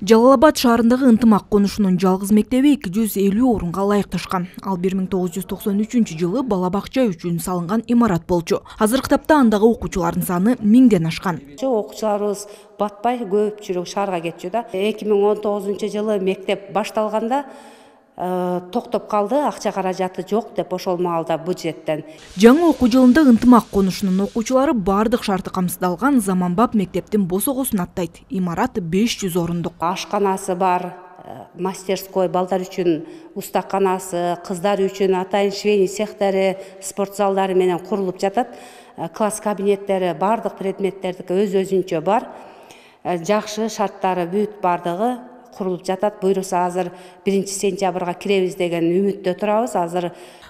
Жалал Абад шаарындагы ынтымак конушунун жалгыз мектеби 250 орунга ылайыкташкан. Ал 1993 бала бакча үчүн салынган имарат болчу. Азыркы тапта андагы окуучулардын саны 1000ден ашкан. Окуучуларыбыз батпай көпчүлүк шаарга кетчү да. 2019 мектеп башталганда токтоп калды, акча каражаты жок деп ошол маалда бюджеттен. Жаңы окуу жылында ынтымак конушунун окуучулары бардык шарты камсыздалган заманбап мектептин босогосун аттайт. Имарат 500 орундук. Ашканасы бар, мастерской, балдар үчүн устаканасы, кыздар үчүн атайын швейный цехтери, спорт залдары менен курулуп жатат. Класс кабинеттери, бардык предметтердики өз-өзүнчө бар. Жакшы шарттары бүт бардыгы курулуп жатат. Буйруса азыр 1-сентябрга киребиз деген үмүттө турабыз. Азыр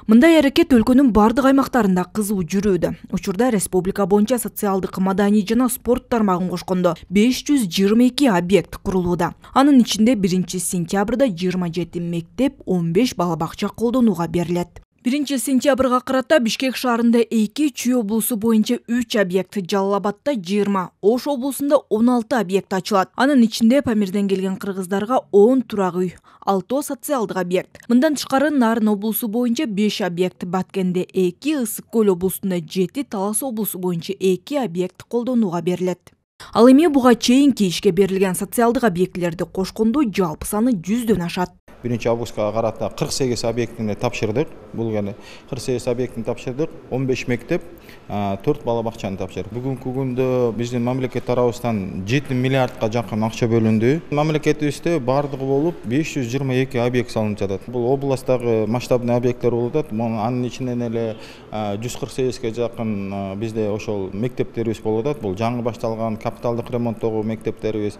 мындай аракет өлкөнүн бардык аймактарында кызуу жүрүүдө. Учурда республика боюнча социалдык, маданий жана спорт тармагын кошкондо 522 объект курулууда. Анын ичинде 1-сентябрда 27 мектеп, 15 бала бакча колдонууга берилет. 1-сентябрга карата Бишкек шаарында 2, Чүй облусу боюнча 3 объект, Жалал Абадта 20, Ош облусунда 16 объект ачылат. Анын ичинде Памирден келген кыргыздарга 10 турак үй, 6 социалдык объект. Мындан тышкары Нарын облусу боюнча 5 объект, Баткенде 2, Ысык Көл облусунда 7, Талас облусу боюнча 2 объект колдонууга берилет. Ал эми буга чейинки ишке берилген социалдык объектилерди кошкондо жалпы саны 100дөн ашат. 1-августка карата 48 объектini тапшырдык. Бул гана 48 объектini тапшырдык. 15 мектеп, 4 бала бакчаны тапшырдык. Бүгүнкү күндө биздин мамлекет тарабыбыздан 7 миллиардка жакын акча бөлүндү. Мамлекетибизде бардыгы болуп 522 объект салынып жатат. Бул областтагы масштабный объекттер болуп атат. Анын ичинен эле 148ге жакын бизде ошол мектептерибиз болуп атат. Бул жаңы башталган капиталдык ремонттогу мектептерибиз,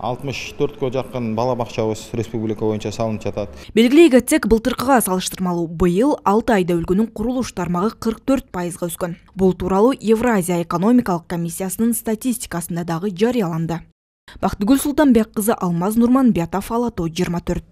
64кө жакын бала бакчабыз республика боюнча салынып жатат. Белгилей кетсек, былтыркыга салыштырмалуу быйыл 6 айда өлкөнүн курулуш тармагы 44%га өскөн. Бул тууралуу Евразия экономикалык комиссиясынын статистикасында дагы жарыяланды. Бактыгүл Султанбек кызы, Алмаз Нурманбетов, Ала Тоо 24.